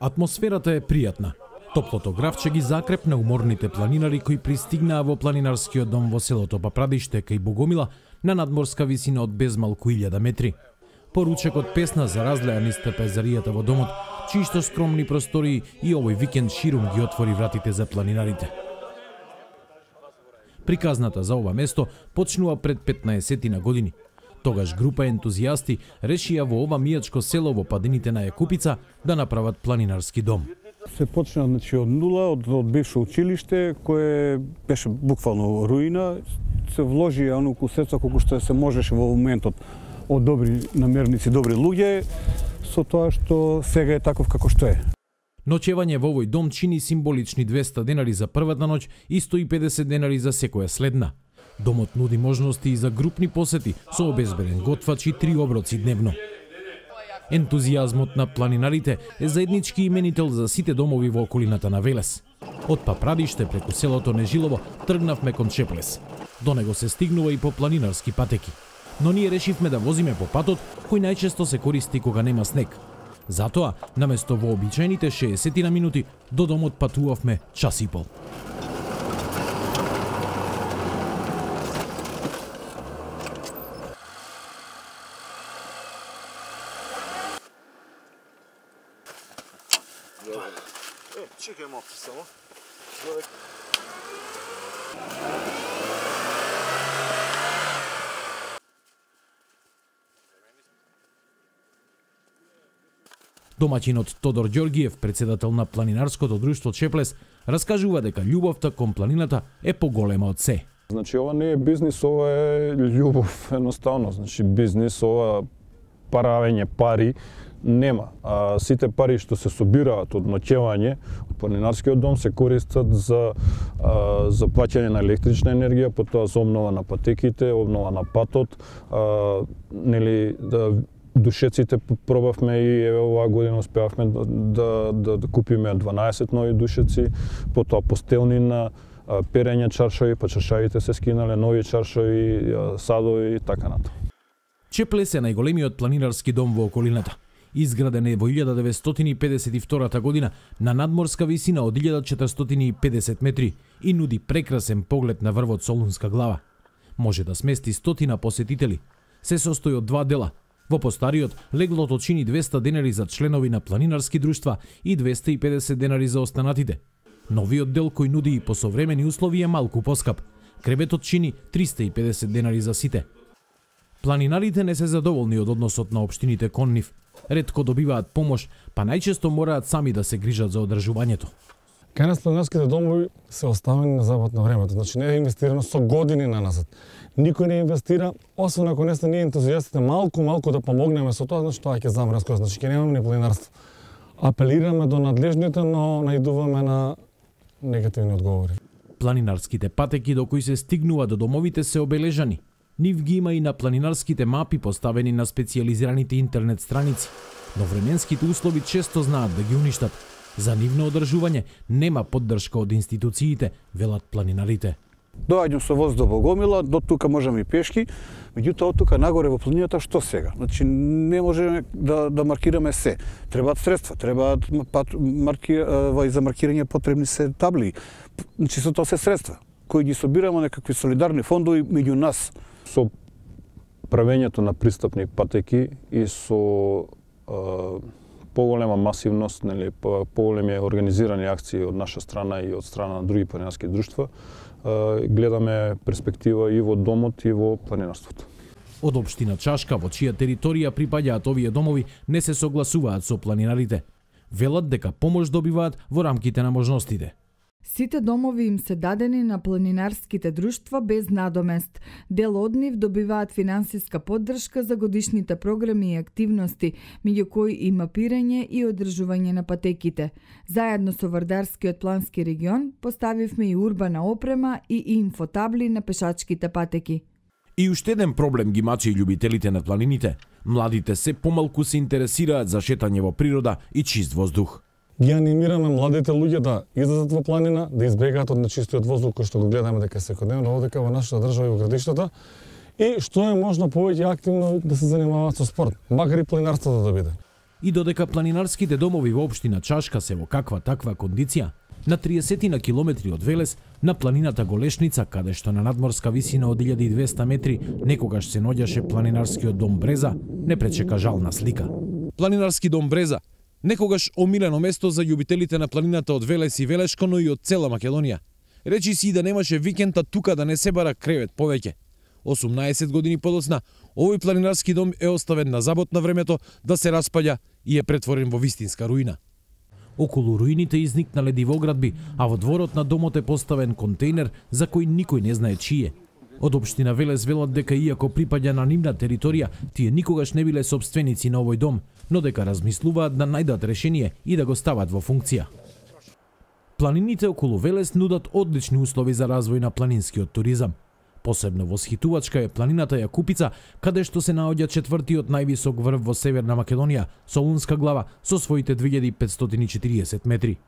Атмосферата е пријатна. Топлото гравче ги закрепна уморните планинари кои пристигнаа во планинарскиот дом во селото Папрадиште кај Богомила на надморска висина од безмалку 1000 метри. Поручекот песна за разлеа низ трпезаријата во домот, чиишто скромни простории и овој викенд ширум ги отвори вратите за планинарите. Приказната за ова место почнува пред 15 години. Тогаш група ентузијасти решија во ова мијачко село во падините на Јакупица да направат планинарски дом. Се почна од нула, од бивше училиште, кое беше буквално руина. Се вложи оноку средства колку што се можеше во моментот од добри намерници, добри луѓе, со тоа што сега е таков како што е. Ноќевање во овој дом чини символични 200 денари за првата ноќ и 150 денари за секоја следна. Домот нуди можности и за групни посети со обезбеден готвач и 3 оброци дневно. Ентузијазмот на планинарите е заеднички именител за сите домови во околината на Велес. Од Папрадиште преку селото Нежилово тргнавме кон Чеплес. До него се стигнува и по планинарски патеки. Но ние решивме да возиме по патот кој најчесто се користи кога нема снег. Затоа, наместо вообичаените 60 на минути, до домот патувавме час и пол. Чекај малку само. Домаќинот Тодор Ѓоргиев, председател на планинарското друштво Чеплес, раскажува дека љубовта кон планината е поголема од се. Значи ова не е бизнис, ова е љубов едноставно. Значи бизнис, ова правење пари нема. А сите пари што се собираат од ноќевање од планинарскиот дом се користат за плаќање на електрична енергија, потоа за обнова на патеките, обнова на патот, душеците пробавме и еве оваа година успеавме да купиме 12 нови душеци, потоа постелнина, перење чаршави, па чаршавите се скинале, нови чаршави, садови и така натаму. Чеплес е најголемиот планинарски дом во околината. Изграден е во 1952 година на надморска висина од 1450 метри и нуди прекрасен поглед на врвот Солунска глава. Може да смести 100 посетители. Се состои од 2 дела. Во постариот, леглото чини 200 денари за членови на планинарски друштва и 250 денари за останатите. Новиот дел кој нуди и посовремени услови е малку поскап. Креветот чини 350 денари за сите. Планинарите не се задоволни од односот на општините кон нив. Ретко добиваат помош, па најчесто мораат сами да се грижат за одржувањето. Кај нас планинарските домови се оставени на запад на времето, значи не е инвестирано со години наназад. Никој не инвестира, освен ако не сте ние ентузијастите малку да помогнеме со тоа, значи тоа ќе замре скоро, значи ќе немаме ни планинарство. Апелираме до надлежните, но наидуваме на негативни одговори. Планинарските патеки до кои се стигнува до домовите се обележани. Нив ги има и на планинарските мапи поставени на специјализираните интернет страници, но временските услови често знаат да ги уништат. За нивно одржување нема поддршка од институциите, велат планинарите. Доаѓам со воз до Богомила, до тука можеме и пешки, меѓутоа од тука нагоре во планината што сега? Значи не можеме да маркираме се. Требаат средства, требаат за маркирање потребни се табли. Значи со тоа се средства кои ги собираме некакви солидарни фондови меѓу нас. Со правењето на пристапни патеки и со поголема масивност, нели, поголеми организирани акции од наша страна и од страна на други планинарски друштва, гледаме перспектива и во домот и во планинарството. Од општина Чашка, во чија територија припаѓаат овие домови, не се согласуваат со планинарите. Велат дека помош добиваат во рамките на можностите. Сите домови им се дадени на планинарските друштва без надомест. Дел од нив добиваат финансиска поддршка за годишните програми и активности, меѓу кои и мапирање и одржување на патеките. Заедно со Вардарскиот плански регион поставивме и урбана опрема и инфотабли на пешачките патеки. И уште еден проблем ги мачи љубителите на планините. Младите се помалку се интересираат за шетање во природа и чист воздух. Ги анимираме младите луѓе да излезат во планина, да избегаат од нечистиот воздух кој што го гледаме дека секојдневно овдека во нашата држава и во градиштата, и што е можно повеќе активно да се занимаваат со спорт, макар и планинарството да биде. И додека планинарските домови во општина Чашка се во каква таква кондиција, на 30 на километри од Велес, на планината Голешница, каде што на надморска висина од 1200 метри некогаш се наоѓаше планинарскиот дом Бреза, не пречека жална слика. Планинарски дом Бреза, некогаш омилено место за љубителите на планината од Велес и Велешко, но и од цела Македонија. Речи си и да немаше викенда тука да не се бара кревет повеќе. 18 години подоцна, овој планинарски дом е оставен на забот на времето да се распаѓа и е претворен во вистинска руина. Околу руините изникнале дивоградби, а во дворот на домот е поставен контейнер за кој никој не знае чие. Од општина Велес велат дека иако припаѓа на нивна територија, тие никогаш не биле сопственици на овој дом, но дека размислуваат да најдат решение и да го стават во функција. Планините околу Велес нудат одлични услови за развој на планинскиот туризам. Посебно восхитувачка е планината Јакупица, каде што се наоѓа четвртиот највисок врв во Северна Македонија, Солунска глава, со своите 2540 метри.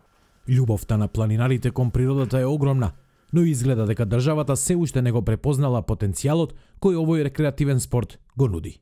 Љубовта на планинарите кон природата е огромна, но изгледа дека државата се уште не го препознала потенцијалот кој овој рекреативен спорт го нуди.